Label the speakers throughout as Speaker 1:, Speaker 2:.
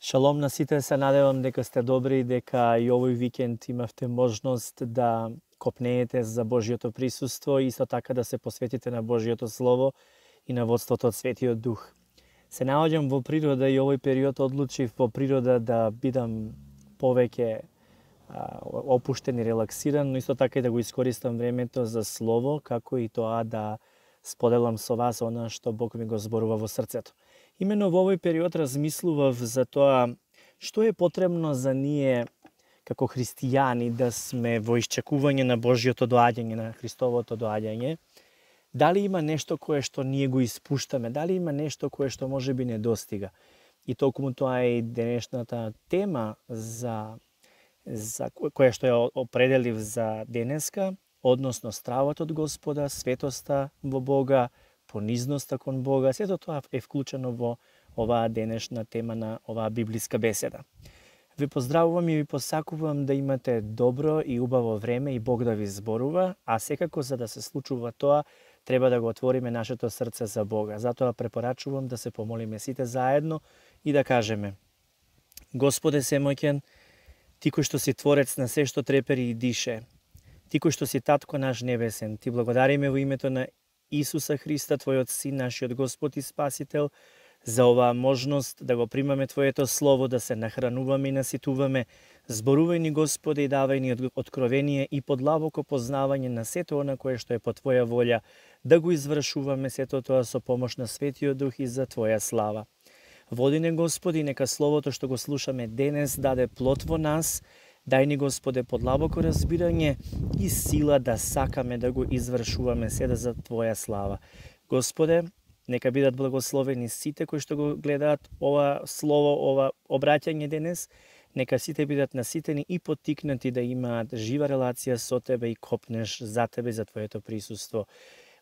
Speaker 1: Шалом на сите, се надевам дека сте добри и дека и овој викенд имавте можност да копнеете за Божјото присуство и исто така да се посветите на Божјото Слово и на водството од Светиот Дух. Се наоѓам во природа и овој период одлучив во природа да бидам повеќе опуштен и релаксиран, но исто така и да го искористам времето за Слово, како и тоа да споделам со вас она што Бог ми го зборува во срцето. Имено во овој период размислував за тоа што е потребно за ние како христијани да сме во исчекување на Божјото доаѓање, на Христовото доаѓање. Дали има нешто кое што ние го испуштаме, дали има нешто кое што можеби не достига. И токму тоа е и денешната тема за која што ја определив за денеска, односно стравот од Господа, светоста во Бога, понизноста кон Бога, сето тоа е вклучено во оваа денешна тема на оваа библиска беседа. Ви поздравувам и ви посакувам да имате добро и убаво време и Бог да ви зборува, а секако за да се случува тоа, треба да го отвориме нашето срце за Бога. Затоа препорачувам да се помолиме сите заедно и да кажеме: Господе семоќен, Ти кој што си творец на се што трепери и дише, Ти кој што си Татко наш небесен, Ти благодариме во името на Исуса Христа, Твојот Син, нашиот Господ и Спасител, за оваа можност да го примаме Твоето Слово, да се нахрануваме и наситуваме. Зборувај ни, Господе, и давај ни откровение и подлабоко познавање на сето она кое што е по Твоја волја, да го извршуваме сето тоа со помош на Светиот Дух и за Твоја слава. Води не, Господи, нека Словото што го слушаме денес даде плод во нас. Дај ни, Господе, подлабоко разбирање и сила да сакаме да го извршуваме седа за Твоја слава. Господе, нека бидат благословени сите кои што го гледаат ова слово, ова обраќање денес. Нека сите бидат наситени и поттикнати да имаат жива релација со Тебе и копнеш за Тебе, за Твоето присуство.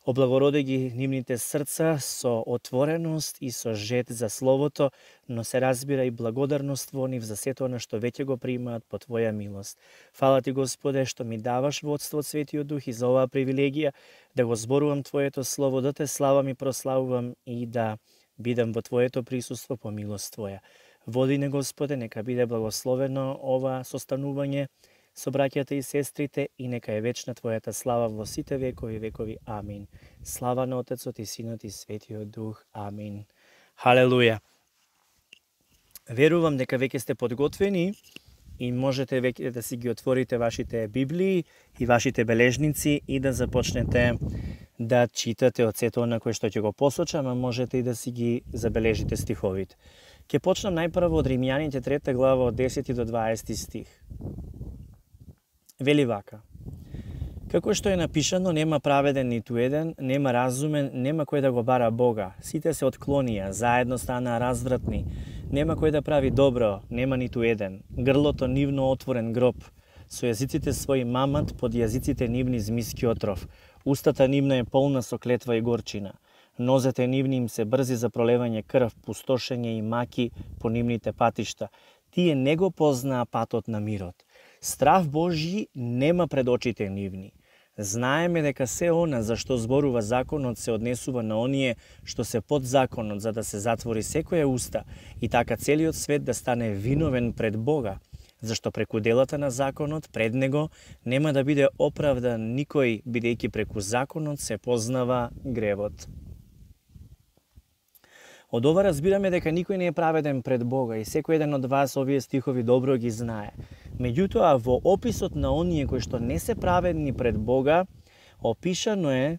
Speaker 1: Облагороди ги нивните срца со отвореност и со жет за Словото, но се разбира и благодарност во нив за сето она што веќе го примаат по Твоја милост. Фала Ти, Господе, што ми даваш водство од Светиот Дух и за оваа привилегија да го зборувам Твоето Слово, да Те славам и прославувам и да бидам во Твоето присуство по милост Твоја. Води не, Господе, нека биде благословено ова состанување со браќата и сестрите и нека е вечна Твојата слава во сите векови. Амин. Слава на Отецот и Синот и Светиот Дух. Амин. Халелуја. Верувам дека веќе сте подготвени и можете веќе да си ги отворите вашите Библии и вашите бележници и да започнете да читате од сето на кое што ќе го посочам, а можете и да си ги забележите стиховите. Ќе почнам најпрво од Римјаните 3 глава од 10 до 20 стих. Вели вака: како што е напишано, нема праведен ниту еден, нема разумен, нема кој да го бара Бога. Сите се отклонија, заедно станаа развратни. Нема кој да прави добро, нема ниту еден. Грлото нивно отворен гроб, со јазиците своји мамат, под јазиците нивни змиски отров. Устата нивна е полна со клетва и горчина. Нозете нивни им се брзи за пролевање крв, пустошење и маки по нивните патишта. Тие не го познаа патот на мирот. Страв Божји нема пред очите нивни. Знаеме дека се она за што зборува законот се однесува на оние што се под законот, за да се затвори секоја уста и така целиот свет да стане виновен пред Бога, зашто преку делата на законот пред него нема да биде оправдан никој, бидејќи преку законот се познава гревот. Од ова разбираме дека никој не е праведен пред Бога и секој еден од вас овие стихови добро ги знае. Меѓутоа, во описот на оние кои што не се праведни пред Бога, опишано е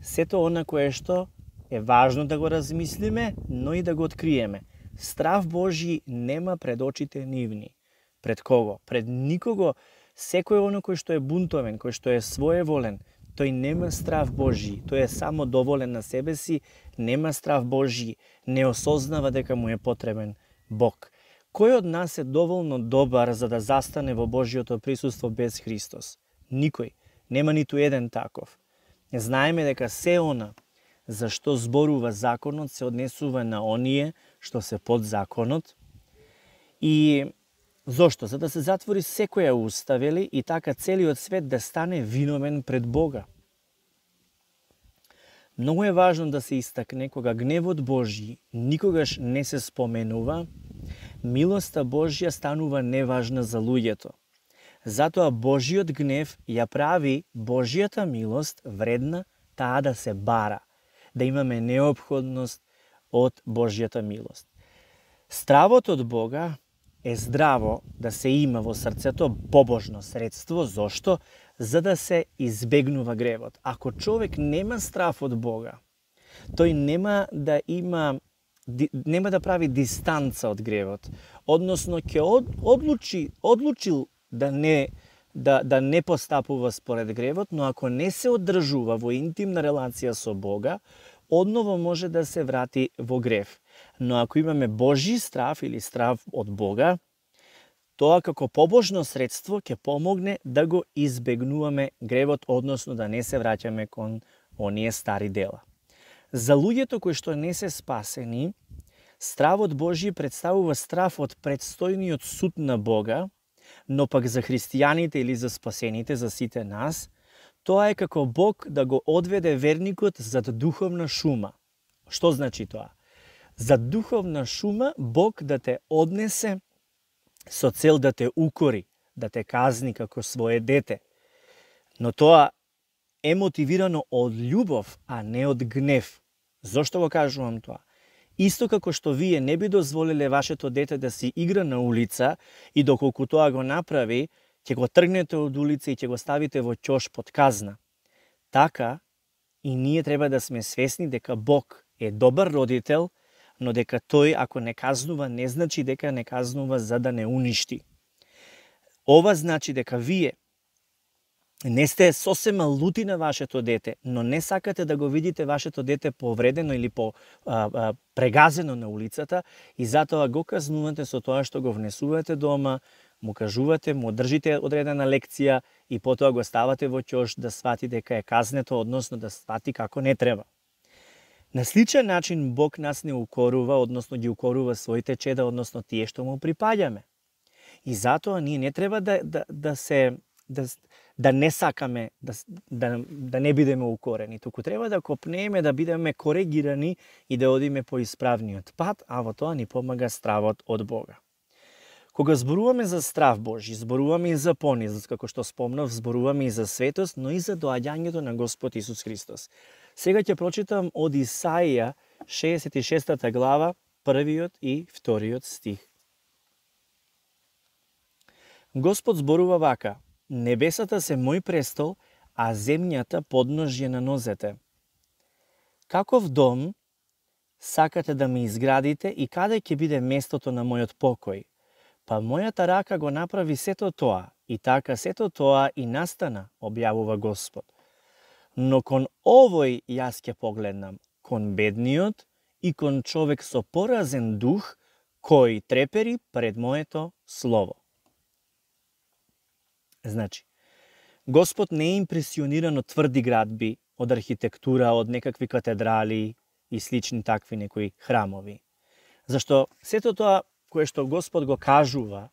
Speaker 1: сето она кое што е важно да го размислиме, но и да го откриеме. Страв Божји нема пред очите нивни. Пред кого? Пред никого. Секој оно кој што е бунтовен, кој што е своеволен, тој нема страв Божји, тој е само доволен на себе си, нема страв Божји, не осознава дека му е потребен Бог. Кој од нас е доволно добар за да застане во Божјото присуство без Христос? Никој, нема ниту еден таков. Знаеме дека се она за што зборува законот се однесува на оние што се под законот. И зошто? За да се затвори секоја уста, вели, и така целиот свет да стане виновен пред Бога. Многу е важно да се истакне кога гневот Божји никогаш не се споменува, Милоста Божја станува неважна за луѓето. Затоа Божиот гнев ја прави Божјата милост вредна таа да се бара, да имаме неопходност од Божјата милост. Стравот од Бога е здраво да се има во срцето побожно средство. Зошто? За да се избегнува гревот. Ако човек нема страв од Бога, тој нема да прави дистанца од гревот, односно ќе одлучил да не постапува според гревот, но ако не се одржува во интимна релација со Бога, одново може да се врати во грев. Но ако имаме Божји страв или страв од Бога, тоа како побожно средство ќе помогне да го избегнуваме гревот, односно да не се враќаме кон оние стари дела. За луѓето кои што не се спасени, стравот Божји представува страв од предстојниот суд на Бога, но пак за христијаните или за спасените, за сите нас, тоа е како Бог да го одведе верникот зад духовна шума. Што значи тоа? За духовна шума Бог да те однесе со цел да те укори, да те казни како свое дете. Но тоа е мотивирано од љубов, а не од гнев. Зошто го кажувам тоа? Исто како што вие не би дозволиле вашето дете да си игра на улица и доколку тоа го направи, ќе го тргнете од улица и ќе го ставите во ќош под казна. Така и ние треба да сме свесни дека Бог е добар родител, но дека тој ако не казнува, не значи дека не казнува за да не уништи. Ова значи дека вие не сте сосема лути на вашето дете, но не сакате да го видите вашето дете повредено или прегазено на улицата и затоа го казнувате со тоа што го внесувате дома, му кажувате, му држите одредена лекција и потоа го ставате во ќош да свати дека е казнето, односно да свати како не треба. На сличен начин Бог нас не укорува, односно ги укорува своите чеда, односно тие што му припаѓаме. И затоа ние не треба да не сакаме, да не бидеме укорени, туку треба да копнееме, да бидеме коригирани и да одиме по исправниот пат, а во тоа ни помага стравот од Бога. Кога зборуваме за страв Божи, зборуваме и за понизост, како што спомнав, зборуваме и за светост, но и за доаѓањето на Господ Исус Христос. Сега ќе прочитам од Исаија 66 глава, 1 и 2 стих. Господ зборува вака: небесата се мој престол, а земјата подножје на нозете. Каков дом сакате да ми изградите и каде ќе биде местото на мојот покој? Па мојата рака го направи сето тоа, и така сето тоа и настана, објавува Господ. Но кон овој јас ќе погледнам, кон бедниот и кон човек со поразен дух, кој трепери пред моето слово. Значи, Господ не е импресиониран од тврди градби, од архитектура, од некакви катедрали и слични такви некои храмови. Зашто сето тоа кое што Господ го кажува,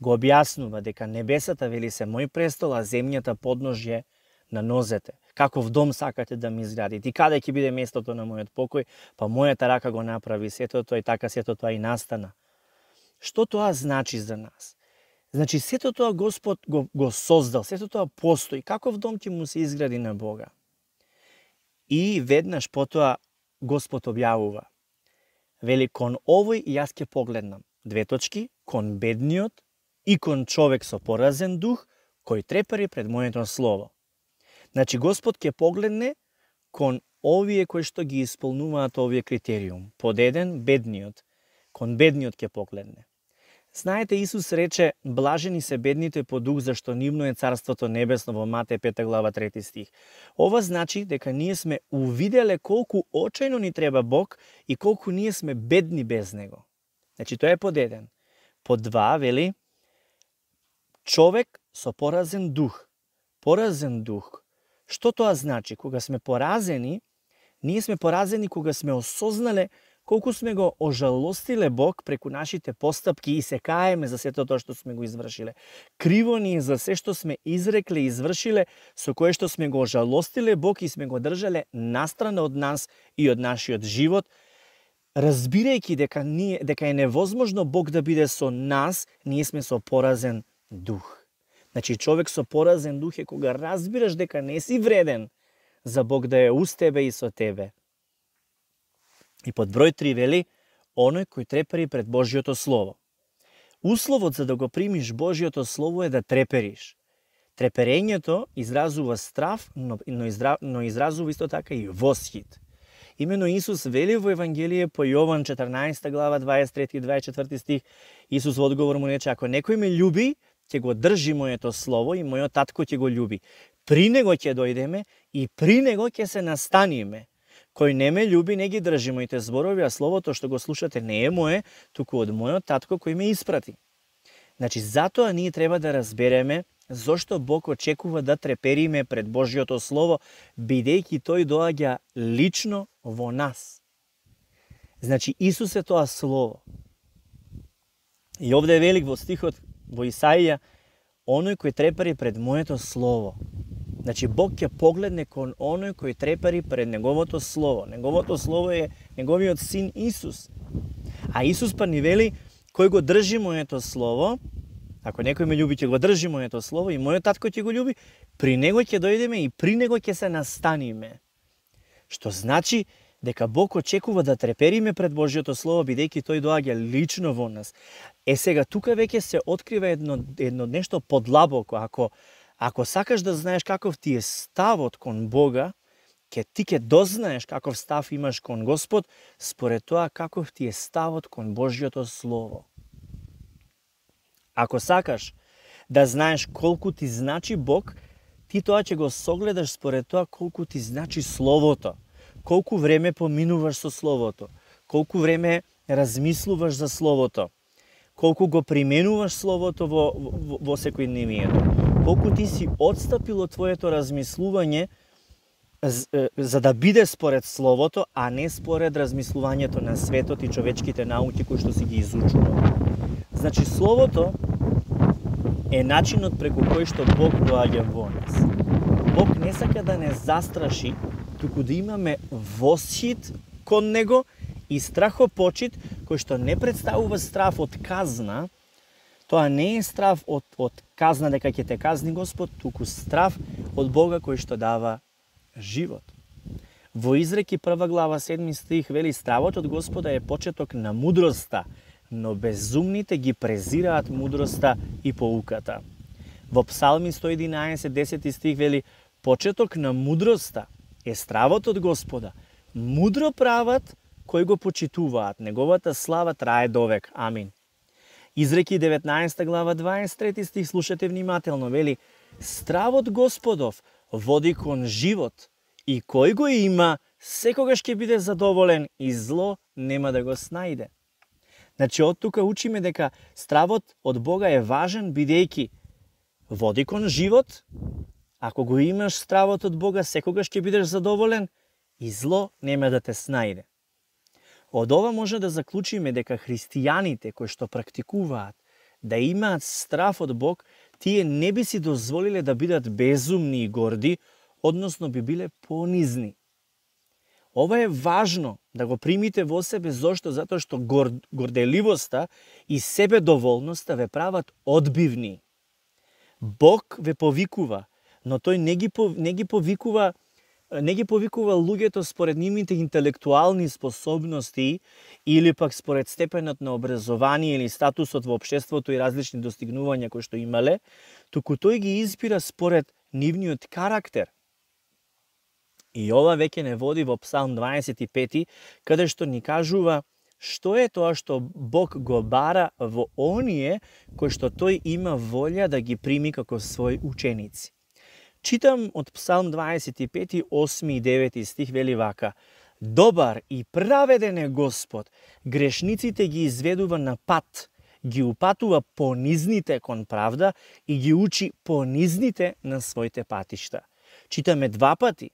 Speaker 1: го објаснува дека небесата, вели, се мој престол, а земјата подножје на нозете. Каков дом сакате да ми изградите и каде ќе биде местото на мојот покој, па мојата рака го направи сето тоа и така сето тоа и настана. Што тоа значи за нас? Значи, сето тоа Господ го создал, сето тоа постои. Каков дом ќе му се изгради на Бога? И веднаш потоа Господ објавува. Вели, кон овој јас ќе погледнам. Кон бедниот и кон човек со поразен дух, кој трепери пред моето слово. Значи, Господ ќе погледне кон овие кои што ги исполнуваат овие критериум. Под еден, бедниот. Кон бедниот ќе погледне. Знаете, Исус рече, блажени се бедните по дух, зашто нивно е царството небесно, во Матеј 5 глава 3 стих. Ова значи дека ние сме увиделе колку очајно ни треба Бог и колку ние сме бедни без Него. Значи, тоа е под еден. Под два, вели, човек со поразен дух. Поразен дух. Што тоа значи? Кога сме поразени, ние сме поразени кога сме осознале колку сме го ожалостиле Бог преку нашите постапки и се каеме за сето тоа што сме го извршиле. Криво ни е за се што сме изрекле и извршиле, со кое што сме го ожалостиле Бог и сме го држале настрана од нас и од нашиот живот. разбирајќи дека е невозможно Бог да биде со нас, ние сме со поразен дух. Значи, човек со поразен дух е кога разбираш дека не си вреден за Бог да е уз тебе и со тебе. И под број 3 вели, оној кој трепери пред Божјото Слово. Условот за да го примиш Божјото Слово е да трепериш. Треперењето изразува страв, но изразува исто така и восхит. Имено Исус вели во Евангелие по Јован 14 глава 23 и 24 стих, Исус во одговор му рече, ако некој ме љуби, ќе го држи моето слово и мојот татко ќе го љуби. При него ќе дојдеме и при него ќе се настаниме. Кој не ме љуби, не ги држи моите зборови, а словото што го слушате не е мое, туку од мојот татко кој ме испрати. Значи, затоа ние треба да разбереме зошто Бог очекува да трепериме пред Божјото Слово, бидејќи тој доаѓа лично во нас. Значи, Исус е тоа Слово. И овде е велик во стихот во Исаија, оној кој трепери пред моето Слово. Значи, Бог ќе погледне кон оној кој трепери пред Неговото Слово. Неговото Слово е Неговиот Син Исус. А Исус па ни вели, кој го држи моето Слово, ако некој ме љуби, ќе го држи моето Слово и мојот татко ќе го љуби, при него ќе дојдеме и при него ќе се настаниме. Што значи дека Бог очекува да трепериме пред Божјото Слово, бидејќи тој доаѓа лично во нас. Сега, тука веќе се открива едно нешто подлабоко. Ако сакаш да знаеш каков ти е ставот кон Бога, ти ќе дознаеш каков став имаш кон Господ, според тоа каков ти е ставот кон Божјото Слово. Ако сакаш да знаеш колку ти значи Бог, ти тоа ќе го согледаш според тоа колку ти значи Словото, колку време поминуваш со Словото, колку време размислуваш за Словото, колку го применуваш Словото во секојдневието, колку ти си отстапил од твоето размислување за да биде според Словото, а не според размислувањето на светот и човечките науки кои што си ги изучувал. Значи, Словото е начинот преку кој што Бог доаѓа во нас. Бог не сака да не застраши, туку да имаме восхит кон Него и страхопочит, кој што не представува страв од казна. Тоа не е страв од казна дека ќе те казни Господ, туку страв од Бога кој што дава живот. Во Изреки 1 глава 7 стих вели, стравот од Господа е почеток на мудроста, но безумните ги презираат мудроста и поуката. Во Псалми 111, 10 стих вели, почеток на мудроста е стравот од Господа, мудро прават кои го почитуваат, неговата слава трае довек. Амин. Изреки 19 глава 23 стих, слушате внимателно, вели, стравот Господов води кон живот и кој го има, секогаш ќе биде задоволен и зло нема да го снајде. Значи, од тука учиме дека стравот од Бога е важен, бидејќи води кон живот. Ако го имаш стравот од Бога, секогаш ќе бидеш задоволен и зло нема да те снајде. Од ова може да заклучиме дека христијаните кои што практикуваат да имаат страв од Бог, тие не би си дозволиле да бидат безумни и горди, односно би биле понизни. Ова е важно да го примите во себе, зошто? Затоа што горделивоста и себедоволноста ве прават одбивни. Бог ве повикува, но тој не ги повикува луѓето според нивните интелектуални способности или пак според степенот на образование или статусот во општеството и различни достигнувања кои што имале, туку тој ги избира според нивниот карактер. И ова веќе не води во Псалм 25, каде што ни кажува што е тоа што Бог го бара во оние кои што тој има волја да ги прими како своји ученици. Читам од Псалм 25, 8 и 9 стих, вели вака: добар и праведен е Господ, грешниците ги изведува на пат, ги упатува понизните кон правда и ги учи понизните на своите патишта. Читаме 2 пати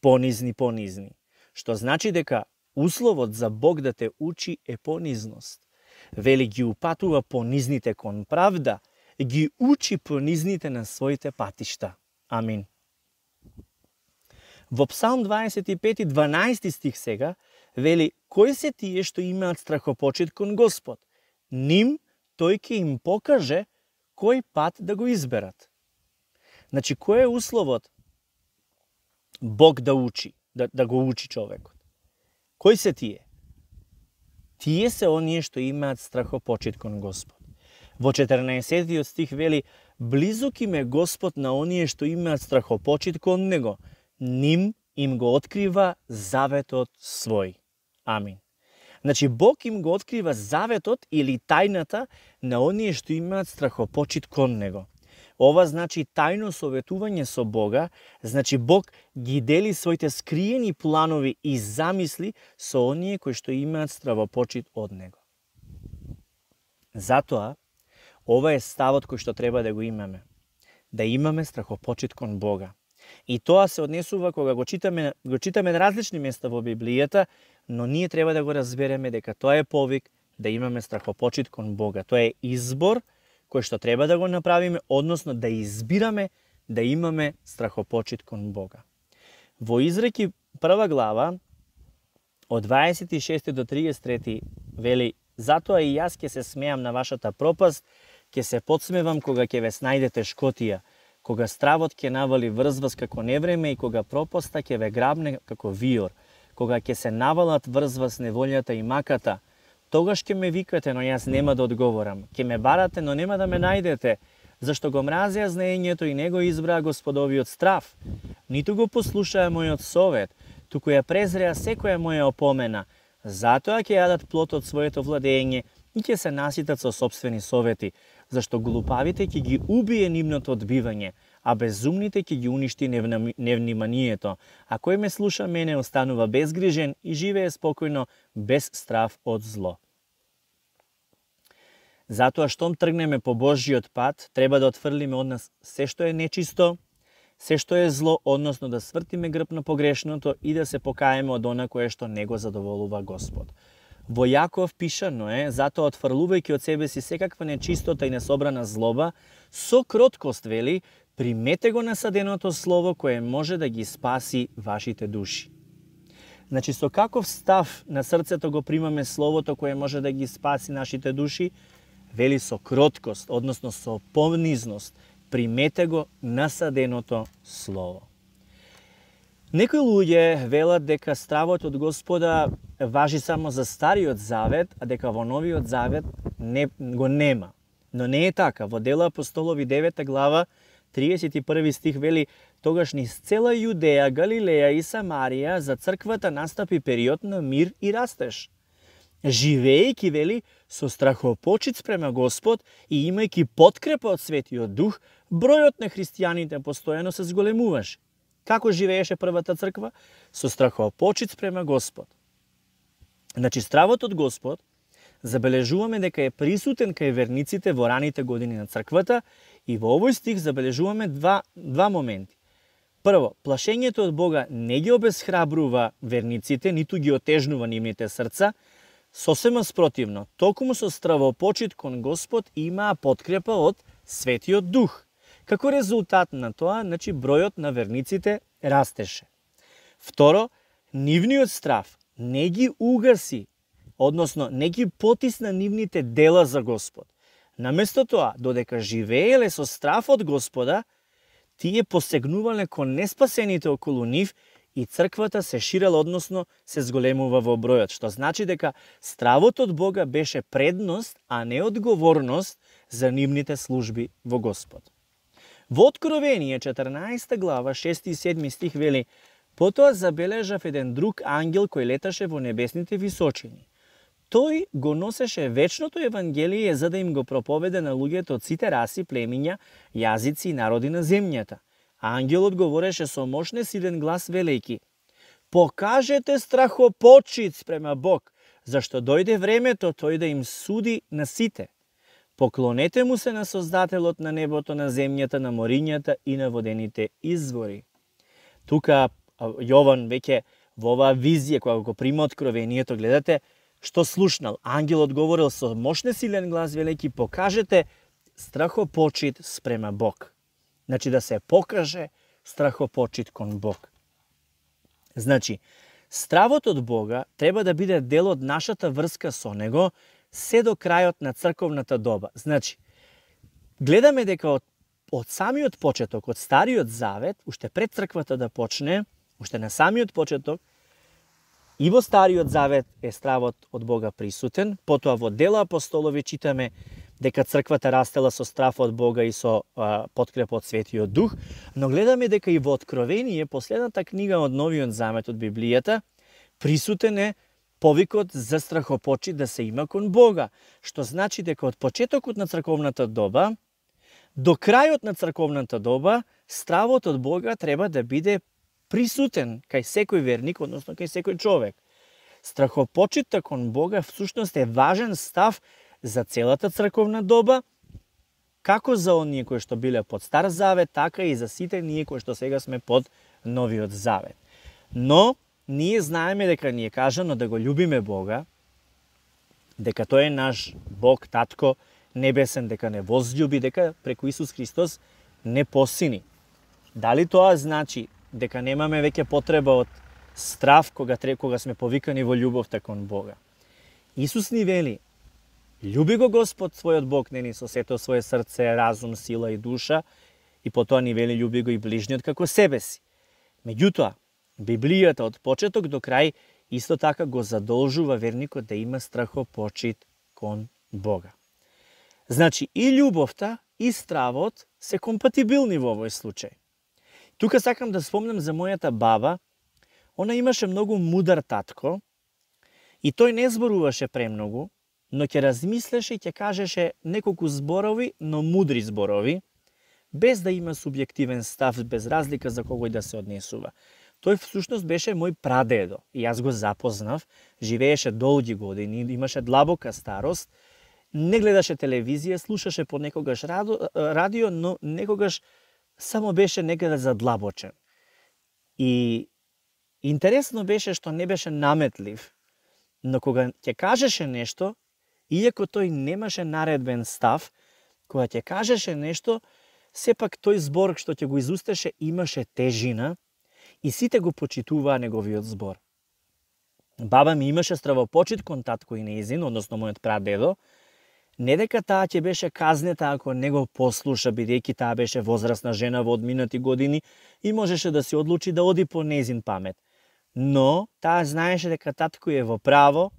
Speaker 1: понизни, што значи дека условот за Бог да те учи е понизност. Вели, ги упатува понизните кон правда, ги учи понизните на своите патишта. Амин. Во Псалм 25, 12 стих сега, вели, кои се тие што имаат страхопочит кон Господ? Ним тој ќе им покаже кој пат да го изберат. Значи, кој е условот Бог да учи, да го учи човекот? Кои се тие? Тие се оние што имаат страхопочит кон Господ. Во 14 стих вели, близок им е Господ на оние што имаат страхопочит кон Него, ним им го открива заветот свој. Амин. Значи, Бог им го открива заветот или тајната на оние што имаат страхопочит кон Него. Ова значи тајно советување со Бога, значи Бог ги дели своите скриени планови и замисли со оние кои што имаат страхопочит од Него. Затоа, ова е ставот кој што треба да го имаме. Да имаме страхопочит кон Бога. И тоа се однесува кога го читаме на различни места во Библијата, но ние треба да го разбереме дека тоа е повик да имаме страхопочит кон Бога. Тоа е избор кој што треба да го направиме, односно да избираме да имаме страхопочит кон Бога. Во Изреки 1 глава, од 26 до 33 вели, затоа и јас ќе се смеам на вашата пропаст, ќе се подсмевам кога ќе ве снајдете шкотија, кога стравот ќе навали врз вас како невреме и кога пропаста ќе ве грабне како виор, кога ќе се навалат врз вас неволјата и маката, тогаш ќе ме викате, но јас нема да одговорам. Ќе ме барате, но нема да ме најдете, зашто го мразеа знаењето и не го избраа Господовиот страв. Ниту го послушаа мојот совет, туку ја презреа секоја моја опомена. Затоа ќе јадат плод од своето владење и ќе се наситат со сопствени совети, зашто глупавите ќе ги убие нивното одбивање, а безумните ќе ги уништи невниманието. А кој ме слуша мене останува безгрижен и живее спокојно, без страв од зло. Затоа, штом тргнеме по Божиот пат, треба да отфрлиме од нас се што е нечисто, се што е зло, односно да свртиме грб на погрешното и да се покаеме од она кое што не го задоволува Господ. Во Јаков пишано е, затоа отфрлувајќи од себе си секаква нечистота и несобрана злоба, со кроткост вели, примете го насаденото слово кое може да ги спаси вашите души. Значи, со каков став на срцето го примаме словото кое може да ги спаси нашите души? Вели со кроткост, односно со понизност. Примете го насаденото слово. Некои луѓе велат дека стравот од Господа важи само за Стариот Завет, а дека во Новиот Завет го нема. Но не е така. Во Дела апостолови 9 глава 31 стих вели, тогаш низ цела Јудеја, Галилеја и Самарија за црквата настапи период на мир и растеж. Живеејќи, вели, со страхопочит спрема Господ и имајќи подкрепа од Светиот Дух, бројот на христијаните постојано се зголемуваше. Како живееше првата црква? Со страхопочит спрема Господ. Значи, стравот од Господ забележуваме дека е присутен кај верниците во раните години на црквата и во овој стих забележуваме два моменти. Прво, плашењето од Бога не ги обесхрабрува верниците, ниту ги отежнува нивните срца, сосема спротивно, токму со стравопочит кон Господ имаа подкрепа од Светиот Дух. Како резултат на тоа, значи, бројот на верниците растеше. Второ, нивниот страв не ги угаси, односно не ги потисна нивните дела за Господ. Наместо тоа, додека живееле со страв од Господа, тие посегнувале кон неспасените околу нив и црквата се ширела, односно се зголемува во бројот, што значи дека стравот од Бога беше предност, а не одговорност за нивните служби во Господ. Во Откровение 14 глава 6 и 7 стих вели, потоа забележав еден друг ангел кој леташе во небесните височини. Тој го носеше вечното Евангелие за да им го проповеде на луѓето од сите раси, племиња, јазици и народи на земјата. Ангелот говореше со мощен силен глас велејки, покажете страхопочит спрема Бог, зашто дојде времето тој да им суди на сите. Поклонете му се на Создателот на небото, на земјата, на морињата и на водените извори. Тука Јован веќе во оваа визија, кога го прима откровението, гледате што слушнал. Ангелот говорил со мощен силен глас, велејки, покажете страхопочит спрема Бог. Значи да се покаже страхопочит кон Бог. Значи, Стравот од Бога треба да биде дел од нашата врска со Него се до крајот на црковната доба. Значи, гледаме дека од самиот почеток, од Стариот Завет, уште пред црквата да почне, уште на самиот почеток, и во Стариот Завет е стравот од Бога присутен, потоа во Дела апостолови читаме дека црквата растела со страв од Бога и со подкрепа од Светиот Дух, но гледаме дека и во Откровение, последната книга од Новиот Завет од Библијата, присутен е повикот за страхопочит да се има кон Бога, што значи дека од почетокот на црковната доба до крајот на црковната доба стравот од Бога треба да биде присутен кај секој верник, односно кај секој човек. Страхопочитта кон Бога всушност е важен став за целата црковна доба, како за оние кои што биле под Стар Завет, така и за сите ние кои што сега сме под Новиот Завет. Но ние знаеме дека ни е кажано да го љубиме Бога, дека тој е наш Бог, Татко небесен, дека не возљуби, дека преку Исус Христос не посини. Дали тоа значи дека немаме веќе потреба од страв кога сме повикани во љубовта кон Бога? Исус ни вели: љуби го Господ својот Бог, нели, со сето свое срце, разум, сила и душа, и потоа ни вели љуби го и ближниот како себе си. Меѓутоа, Библијата од почеток до крај исто така го задолжува верникот да има страхопочит кон Бога. Значи, и љубовта, и стравот се компатибилни во овој случај. Тука сакам да спомнам за мојата баба. Она имаше многу мудар татко и тој не зборуваше премногу, но ќе размислеше и ќе кажеше неколку зборови, но мудри зборови, без да има субјективен став, без разлика за когој да се однесува. Тој всушност беше мој прадедо и јас го запознав, живееше долги години, имаше длабока старост, не гледаше телевизија, слушаше понекогаш радио, но некогаш само беше некаде задлабочен. И интересно беше што не беше наметлив, но кога ќе кажеше нешто, иако тој немаше наредбен став, кога ќе кажеше нешто, сепак тој збор што ќе го изустеше имаше тежина и сите го почитуваа неговиот збор. Баба ми имаше стравопочит кон татко и нејзин, односно мојот прадедо, не дека таа ќе беше казнета ако не го послуша, бидејќи таа беше возрасна жена во одминати години и можеше да се одлучи да оди по нејзин памет. Но таа знаеше дека татко е во право,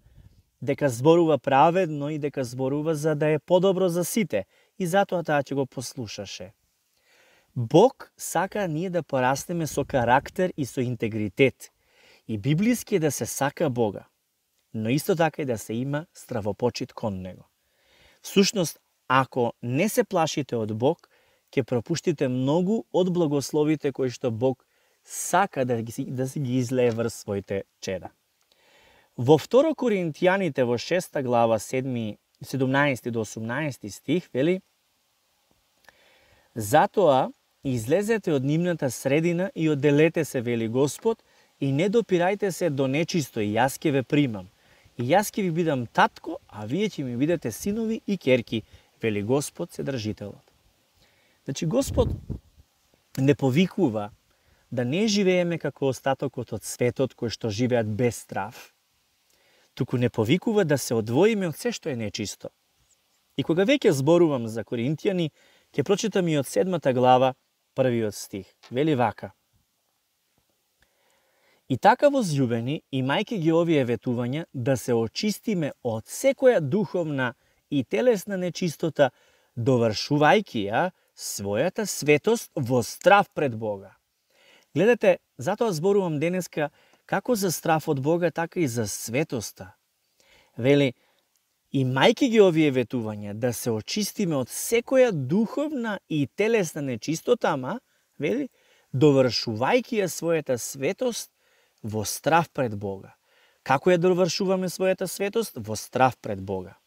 Speaker 1: дека зборува праведно и дека зборува за да е подобро за сите, и затоа таа ќе го послушаше. Бог сака ние да порастеме со карактер и со интегритет. И библиски е да се сака Бога, но исто така и да се има стравопочит кон Него. Всушност, ако не се плашите од Бог, ќе пропуштите многу од благословите кои што Бог сака да си ги излее врз своите чеда. Во 2 Коринтијаните во 6 глава 17 до 18 стих вели: затоа излезете од нивната средина и одделете се, вели Господ, и не допирајте се до нечисто, и јас ќе ве примам. И јас ќе ви бидам татко, а вие ќе ми бидете синови и ќерки, вели Господ Седржителот. Значи, Господ не повикува да не живееме како остатокот од светот кој што живеат без страв, туку не повикува да се одвоиме од се што е нечисто. И кога веќе зборувам за Коринтијани, ќе прочитам и од 7 глава, првиот стих. Вели вака: и така, возљубени, имајќи ги овие ветувања, да се очистиме од секоја духовна и телесна нечистота, довршувајќи ја својата светост во страв пред Бога. Гледате, затоа зборувам денеска како за страв од Бога, така и за светоста. Вели, имајќи ги овие ветувања, да се очистиме од секоја духовна и телесна нечистота, ама, вели, довршувајќи ја својата светост во страв пред Бога. Како ја довршуваме својата светост? Во страв пред Бога.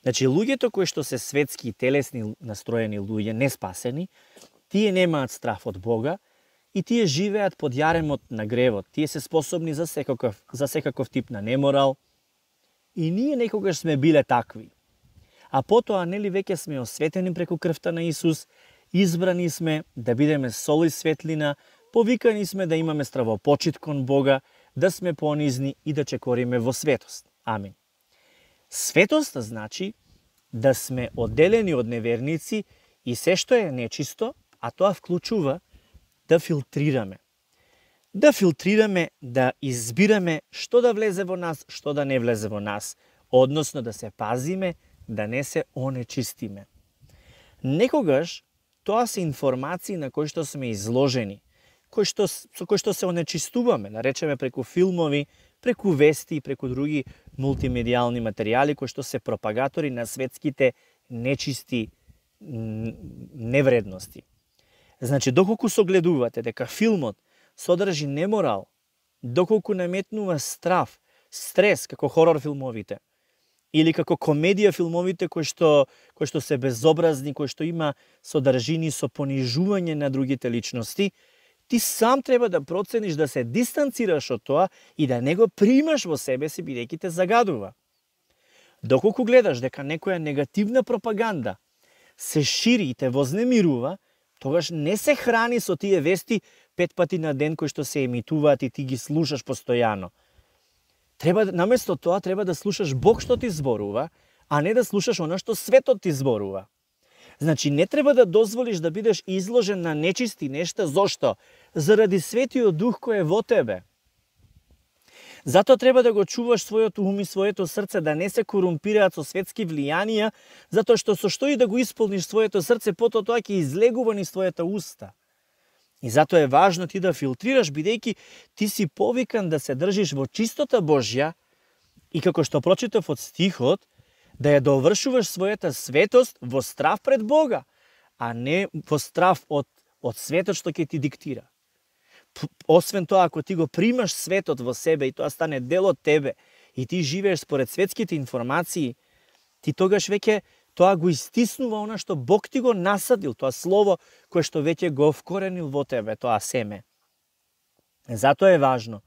Speaker 1: Значи, луѓето кои што се светски и телесни настроени луѓе, не спасени, тие немаат страв од Бога и тие живеат под јаремот на гревот. Тие се способни за секаков тип на неморал. И ние некогаш сме биле такви. А потоа, нели, веќе сме осветени преку крвта на Исус, избрани сме да бидеме сол и светлина, повикани сме да имаме стравопочит кон Бога, да сме понизни и да чекориме во светост. Амин. Светост значи да сме одделени од неверници и се што е нечисто, а тоа вклучува да филтрираме. Да филтрираме, да избираме што да влезе во нас, што да не влезе во нас, односно да се пазиме, да не се онечистиме. Некогаш тоа се информации на кои што сме изложени, со кои што се онечистуваме, да речеме преку филмови, преку вести и преку други мултимедијални материјали кои што се пропагатори на светските нечисти невредности. Значи, доколку согледувате дека филмот содржи неморал, доколку наметнува страв, стрес, како хорор филмовите, или како комедија филмовите кои што се безобразни, кои што има содржини со понижување на другите личности, ти сам треба да процениш да се дистанцираш од тоа и да не го примаш во себе си, бидејќи те загадува. Доколку гледаш дека некоја негативна пропаганда се шири и те вознемирува, тогаш не се храни со тие вести 5 пати на ден кои што се емитуваат и ти ги слушаш постојано. Наместо тоа треба да слушаш Бог што ти зборува, а не да слушаш она што светот ти зборува. Значи, не треба да дозволиш да бидеш изложен на нечисти нешта. Зошто? Заради Светиот Дух кој е во тебе. Затоа треба да го чуваш својот ум и своето срце, да не се корумпираат со светски влијанија, затоа што со што и да го исполниш своето срце, потоа тоа ќе излегува низ твојата уста. И затоа е важно ти да филтрираш, бидејќи ти си повикан да се држиш во чистота Божја и како што прочитав од стихот, да ја довршуваш својата светост во страв пред Бога, а не во страв од светот што ќе ти диктира. Освен тоа, ако ти го примаш светот во себе и тоа стане дел од тебе и ти живееш според светските информации, ти тогаш веќе тоа го истиснува она што Бог ти го насадил, тоа слово кое што веќе го вкоренил во тебе, тоа семе. Затоа е важно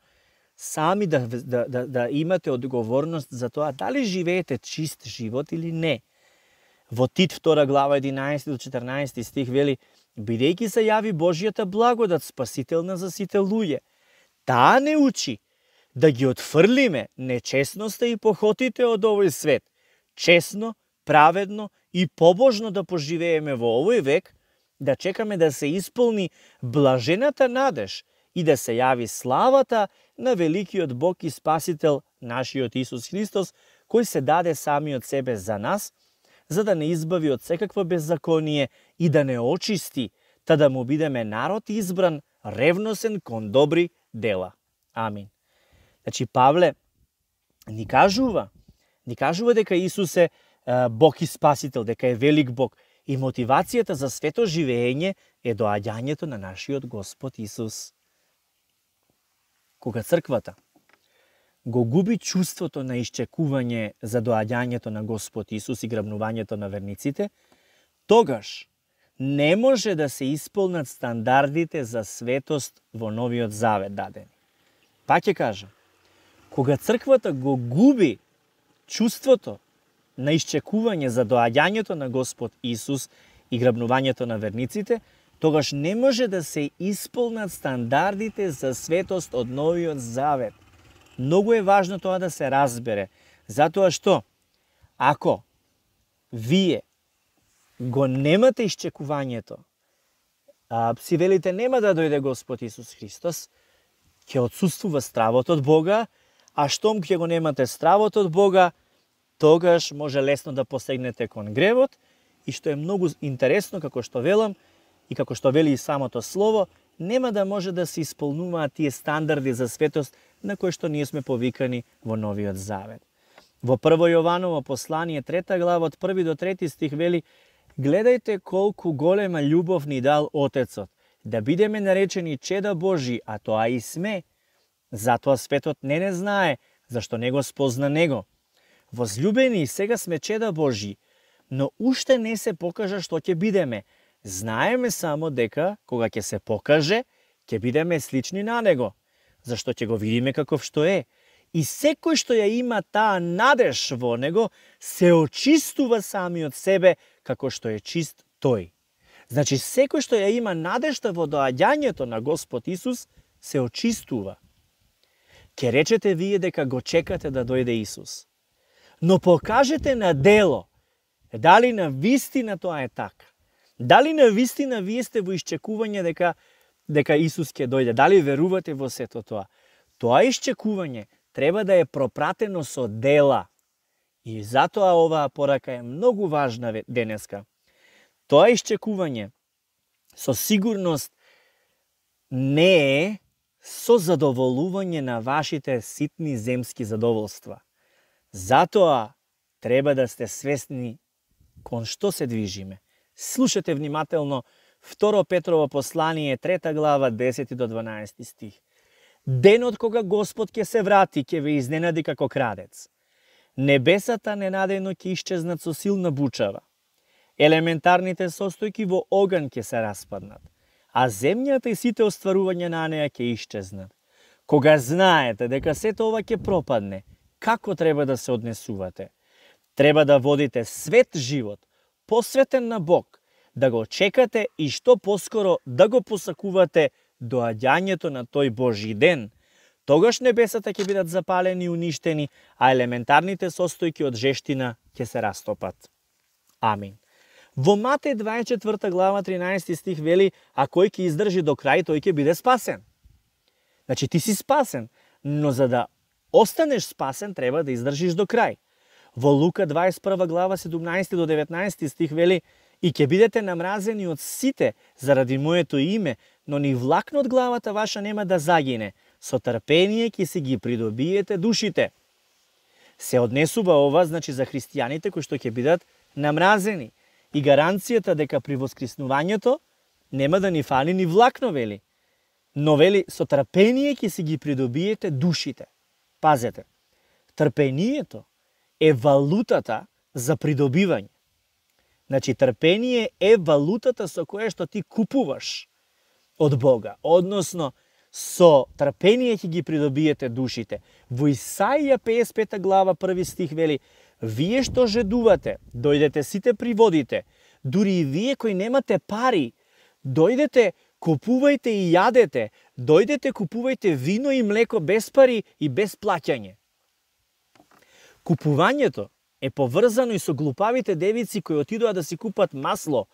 Speaker 1: сами да имате одговорност за тоа дали живеете чист живот или не. Во Тит 2 глава 11 до 14 стих вели: бидејќи се јави Божјата благодат спасителна за сите луѓе, таа не учи да ги отфрлиме нечестноста и похотите од овој свет, честно, праведно и побожно да поживееме во овој век, да чекаме да се исполни блажената надеж и да се јави славата на великиот Бог и Спасител нашиот Исус Христос, кој се даде самиот себе за нас, за да не избави од секакво беззаконие и да не очисти, та да му бидеме народ избран, ревносен кон добри дела. Амин. Значи, Павле ни кажува дека Исус е Бог и Спасител, дека е велик Бог. И мотивацијата за свето живење е доаѓањето на нашиот Господ Исус. Кога црквата го губи чувството на исчекување за доаѓањето на Господ Исус и грабнувањето на верниците, тогаш не може да се исполнат стандардите за светост во Новиот Завет дадени. Пак ќе кажам, кога црквата го губи чувството на исчекување за доаѓањето на Господ Исус и грабнувањето на верниците, тогаш не може да се исполнат стандардите за светост од Новиот Завет. Многу е важно тоа да се разбере, затоа што ако вие го немате исчекувањето, си велите нема да дојде Господ Исус Христос, ќе отсуствува стравот од Бога, а штом ќе го немате стравот од Бога, тогаш може лесно да посегнете кон гревот, и што е многу интересно, како што велам, и како што вели и самото слово, нема да може да се исполнуваат тие стандарди за светост на кои што ние сме повикани во Новиот Завет. Во 1 Јованово послание 3 глава од 1 до 3 стих вели: гледајте колку голема љубов ни дал Отецот, да бидеме наречени чеда Божи, а тоа и сме. Затоа светот не знае, зашто не го спозна Него. Возлюбени, сега сме чеда Божи, но уште не се покажа што ќе бидеме. Знаеме само дека, кога ќе се покаже, ќе бидеме слични на Него, зашто ќе го видиме каков што е. И секој што ја има таа надеж во Него, се очистува самиот себе, како што е чист Тој. Значи, секој што ја има надежта во доаѓањето на Господ Исус, се очистува. Ке речете вие дека го чекате да дојде Исус. Но покажете на дело дали на вистина тоа е така. Дали на вистина вие сте во исчекување дека Исус ќе дојде. Дали верувате во сето тоа. Тоа исчекување треба да е пропратено со дела. И затоа оваа порака е многу важна денеска. Тоа исчекување со сигурност не е со задоволување на вашите ситни земски задоволства. Затоа треба да сте свесни кон што се движиме. Слушате внимателно 2 Петрово послание, 3 глава, 10 до 12 стих. Денот кога Господ ќе се врати, ќе ве изненади како крадец. Небесата ненадејно ќе исчезнат со силна бучава. Елементарните состојки во оган ќе се распаднат, а земјата и сите остварувања на неа ќе исчезнат. Кога знаете дека сето ова ќе пропадне, како треба да се однесувате? Треба да водите свет живот, посветен на Бог, да го чекате и што поскоро да го посакувате доаѓањето на тој Божји ден. Тогаш небесата ќе бидат запалени и уништени, а елементарните состојки од жештина ќе се растопат. Амин. Во Матеј 24 глава 13 стих вели, а кој ќе издржи до крај, тој ќе биде спасен. Значи ти си спасен, но за да останеш спасен треба да издржиш до крај. Во Лука 21 глава 17 до 19 стих вели, и ќе бидете намразени од сите заради моето име, но ни влакно од главата ваша нема да загине. Со трпение ќе си ги придобиете душите. Се однесува ова, значи, за христијаните кои што ќе бидат намразени. И гаранцијата дека при воскреснувањето нема да ни фали ни влакно, вели. Но вели, со трпение ќе си ги придобиете душите. Пазете, трпението е валутата за придобивање. Значи, трпение е валутата со која што ти купуваш од Бога. Односно, со трпение ќе ги придобиете душите. Во Исаија 55 глава 1 стих вели, вие што жедувате, дојдете сите приводите, дури и вие кои немате пари, дојдете, купувајте и јадете, дојдете, купувајте вино и млеко без пари и без плаќање. Купувањето е поврзано и со глупавите девици кои отидоа да си купат масло,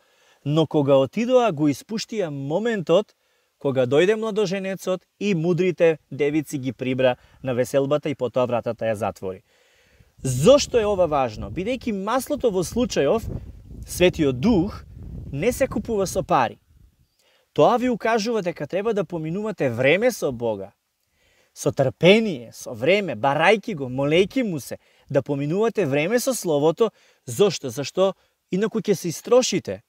Speaker 1: но кога отидоа го испуштија моментот кога дојде младоженецот и мудрите девици ги прибра на веселбата и потоа вратата ја затвори. Зошто е ова важно? Бидејќи маслото во случајов, Светиот Дух, не се купува со пари. Тоа ви укажува дека треба да поминувате време со Бога. Со трпение, со време, барајки го, молејки му се, да поминувате време со Словото. Зошто? Зашто инаку ќе се истрошите.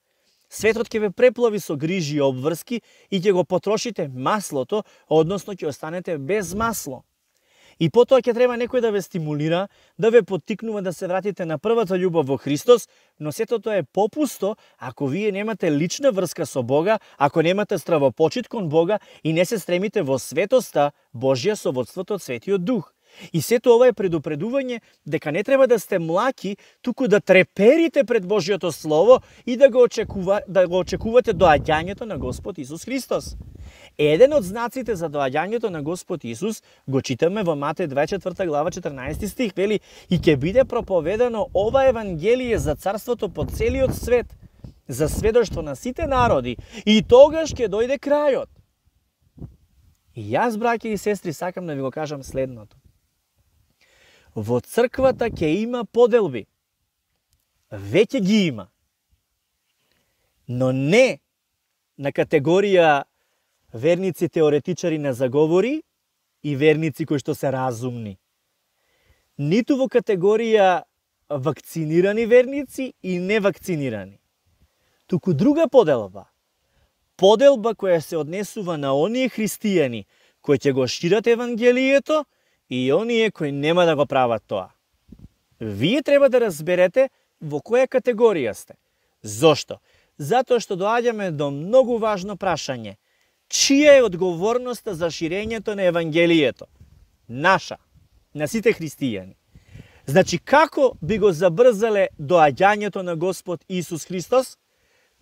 Speaker 1: Светот ќе ве преплави со грижи и обврски и ќе го потрошите маслото, односно ќе останете без масло. И потоа ќе треба некој да ве стимулира, да ве поттикнува да се вратите на првата љубов во Христос, но сето тоа е попусто ако вие немате лична врска со Бога, ако немате стравопочит кон Бога и не се стремите во светоста Божја со водството од Светиот Дух. И сето ова е предупредување дека не треба да сте млаки, туку да треперите пред Божјото Слово и да го очекувате доаѓањето на Господ Исус Христос. Еден од знаците за доаѓањето на Господ Исус го читаме во Матеј 24 глава 14 стих, вели, и ќе биде проповедано ова евангелие за царството по целиот свет, за сведоштво на сите народи, и тогаш ќе дојде крајот. И јас, браќа и сестри, сакам да ви го кажам следното. Во црквата ќе има поделби. Веќе ги има. Но не на категорија верници теоретичари на заговори и верници кои што се разумни. Ниту во категорија вакцинирани верници и невакцинирани. Туку друга поделба. Поделба која се однесува на оние христијани кои ќе го шират евангелието и оние кои нема да го прават тоа. Вие треба да разберете во која категорија сте. Зошто? Затоа што доаѓаме до многу важно прашање. Чија е одговорноста за ширењето на евангелието? Наша, на сите христијани. Значи, како би го забрзале доаѓањето на Господ Исус Христос?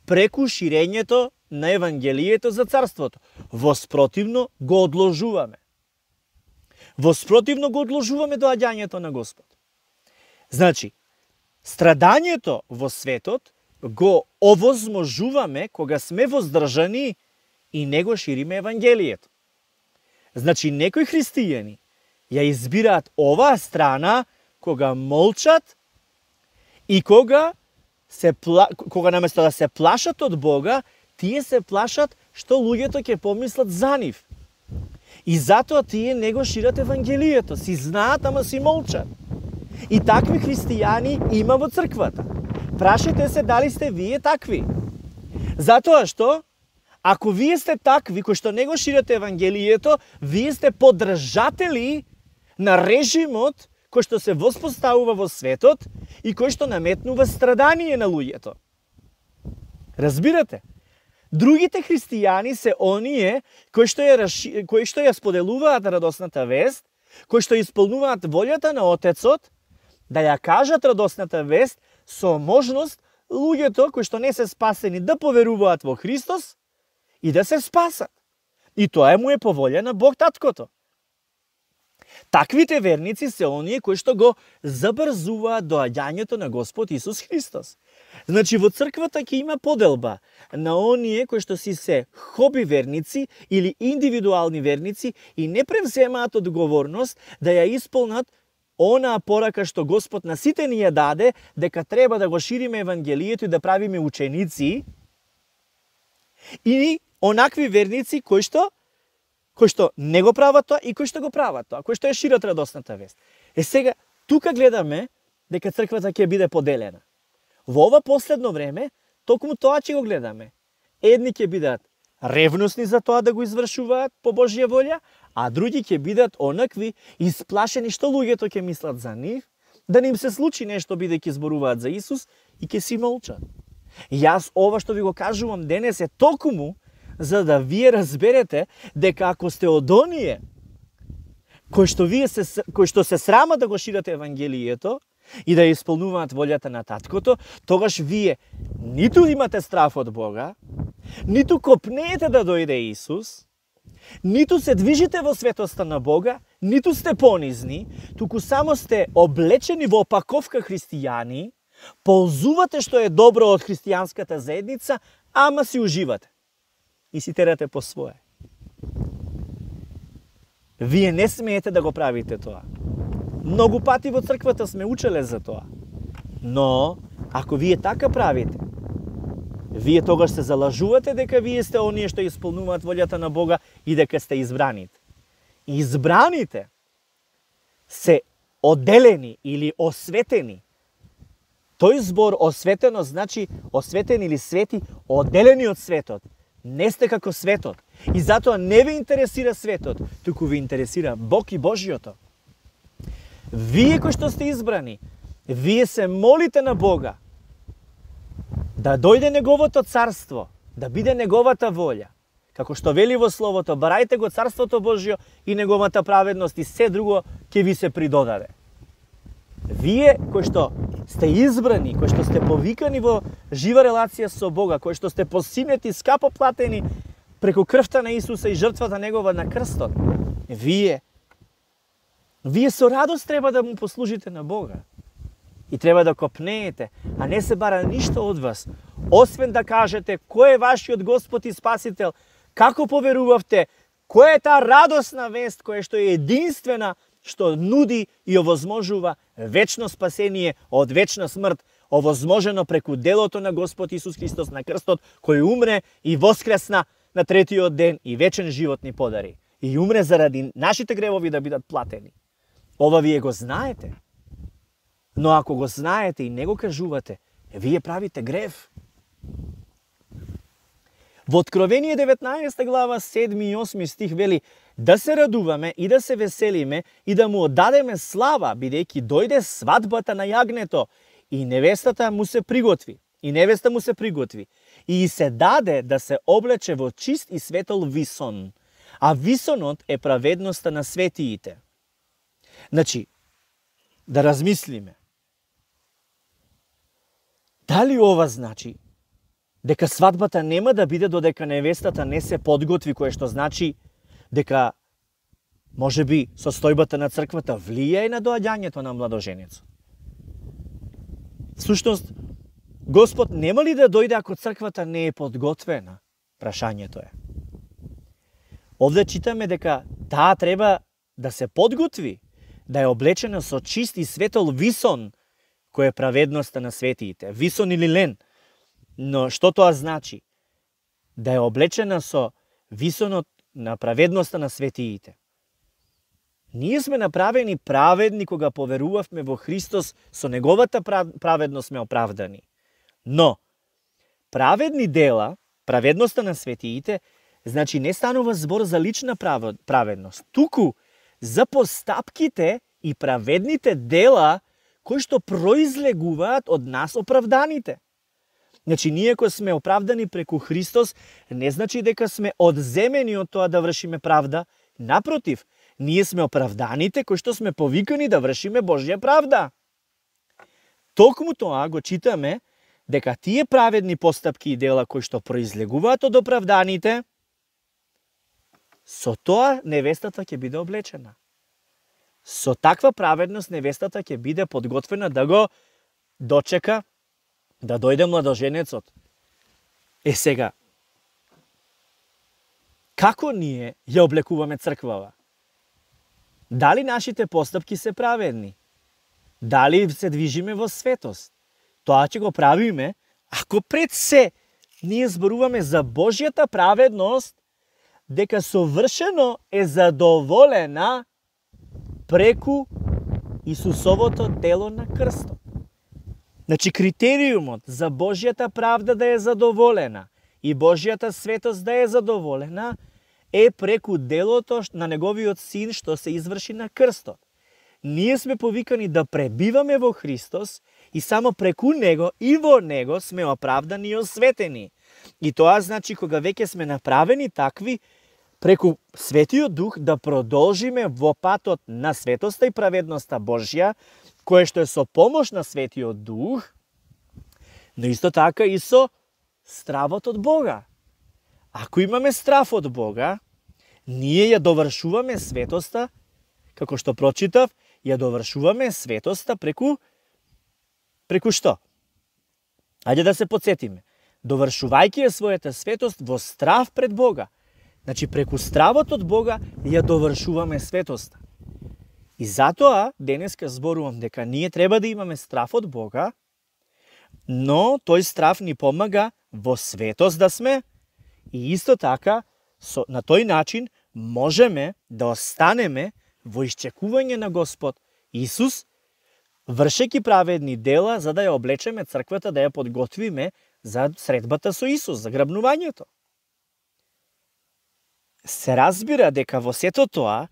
Speaker 1: Преку ширењето на евангелието за царството. Воспротивно го одложуваме. Воспротивно го одложуваме доаѓањето на Господ. Значи, страдањето во светот го овозможуваме кога сме воздржани и не го шириме Евангелието. Значи, некои христијани ја избираат оваа страна кога молчат и кога наместо да се плашат од Бога, тие се плашат што луѓето ќе помислат за нив. И затоа тие не го шират Евангелието, си знаат, ама си молчат. И такви христијани има во црквата. Прашете се дали сте вие такви. Затоа што, ако вие сте такви, кои што не го ширате Евангелието, вие сте поддржатели на режимот кој што се воспоставува во светот и кој што наметнува страдание на луѓето. Разбирате? Другите христијани се оние кои што ја споделуваат радосната вест, кои што исполнуваат волјата на Отецот, да ја кажат радосната вест со можност луѓето кои што не се спасени да поверуваат во Христос и да се спасат. И тоа му е по волја на Бог Таткото. Таквите верници се оние кои што го забрзуваат доаѓањето на Господ Исус Христос. Значи, во црквата ќе има поделба на оние кои што си се хоби верници или индивидуални верници и не превземаат одговорност да ја исполнат онаа порака што Господ на сите ни ја даде, дека треба да го шириме Евангелието и да правиме ученици, и онакви верници кои што не го прават тоа и кои што го прават тоа, кои што ја шират радосната вест. Сега, тука гледаме дека црквата ќе биде поделена. Во ова последно време, токму тоа ќе го гледаме. Едни ќе бидат ревностни за тоа да го извршуваат по Божја волја, а други ќе бидат онакви исплашени што луѓето ќе мислат за нив, да не им се случи нешто бидејќи зборуваат за Исус и ќе си молчат. Јас ова што ви го кажувам денес е токму за да вие разберете дека ако сте од оние кои што се срама да го шират Евангелието и да исполнуваат волјата на Таткото, тогаш вие ниту имате страф од Бога, ниту копнеете да дојде Исус, ниту се движите во светоста на Бога, ниту сте понизни, туку само сте облечени во опаковка христијани, ползувате што е добро од христијанската заедница, ама си уживате и си терате по свое. Вие не смеете да го правите тоа. Многу пати во црквата сме учеле за тоа. Но, ако вие така правите, вие тогаш се залажувате дека вие сте оние што исполнуваат волјата на Бога и дека сте избраните. Избраните се одделени или осветени. Тој збор осветено значи осветени или свети, одделени од светот. Не сте како светот. И затоа не ве интересира светот, туку ве интересира Бог и Божјото. Вие кои што сте избрани, вие се молите на Бога да дојде Неговото царство, да биде Неговата волја. Како што вели во Словото, барајте го царството Божјо и Неговата праведност и се друго ќе ви се придодаде. Вие кои што сте избрани, кои што сте повикани во жива релација со Бога, кои што сте посинети, скапо платени преку крвта на Исуса и жртвата Негова на крстот, вие со радост треба да му послужите на Бога. И треба да копнеете, а не се бара ништо од вас, освен да кажете кој е вашиот Господ и Спасител, како поверувавте, која е таа радосна вест која што е единствена, што нуди и овозможува вечно спасение од вечна смрт, овозможено преку делото на Господ Исус Христос на крстот, кој умре и воскресна на третиот ден и вечен живот ни подари. И умре заради нашите гревови да бидат платени. Ова вие го знаете. Но ако го знаете и не го кажувате, вие правите грев. Во Откровение 19 глава 7 и 8 стих вели: да се радуваме и да се веселиме и да му оддадеме слава, бидејќи дојде свадбата на јагнето и невеста му се приготви. И се даде да се облече во чист и светол висон. А висонот е праведноста на светиите. Значи, да размислиме. Дали ова значи дека свадбата нема да биде додека невестата не се подготви, кое што значи дека Може би состојбата на црквата влијае на доаѓањето на младоженецот. Всушност, Господ нема ли да дојде ако црквата не е подготвена? Прашањето е. Овде читаме дека таа треба да се подготви, да е облечена со чист и светол висон, кој е праведноста на светиите. Висон или лен. Но што тоа значи? Да е облечена со висонот на праведноста на светиите. Ние сме направени праведни кога поверувавме во Христос, со неговата праведност сме оправдани. Но, праведни дела, праведноста на светиите, значи не станува збор за лична праведност, туку за постапките и праведните дела кои што произлегуваат од нас оправданите. Значи, ние кои сме оправдани преку Христос, не значи дека сме одземени од тоа да вршиме правда. Напротив, ние сме оправданите кои што сме повикани да вршиме Божја правда. Токму тоа го читаме дека тие праведни постапки и дела кои што произлегуваат од оправданите, со тоа невестата ќе биде облечена. Со таква праведност невестата ќе биде подготвена да го дочека, да дојде младоженецот. Сега, како ние ја облекуваме црквава? Дали нашите постапки се праведни? Дали се движиме во светост? Тоа ќе го правиме ако пред се ние зборуваме за Божјата праведност, дека совршено е задоволена преку Исусовото дело на крстот. Значи, критериумот за Божјата правда да е задоволена и Божјата светост да е задоволена е преку делото на неговиот син што се изврши на крстот. Ние сме повикани да пребиваме во Христос и само преку него и во него сме оправдани и осветени. И тоа значи кога веќе сме направени такви, преку Светиот Дух да продолжиме во патот на светоста и праведноста Божја, кое што е со помош на Светиот Дух, но исто така и со стравот од Бога. Ако имаме страв од Бога, ние ја довршуваме светоста, како што прочитав, ја довршуваме светоста преку што? Ајде да се подсетиме. Довршувајќи ја својата светост во страв пред Бога. Значи, преку стравот од Бога ја довршуваме светоста. И затоа, денеска зборувам дека ние треба да имаме страв од Бога, но тој страв ни помага во светост да сме и исто така, на тој начин можеме да останеме во исчекување на Господ Исус, вршеки праведни дела за да ја облечеме црквата, да ја подготвиме за средбата со Исус, за грабнувањето. Се разбира дека во сето тоа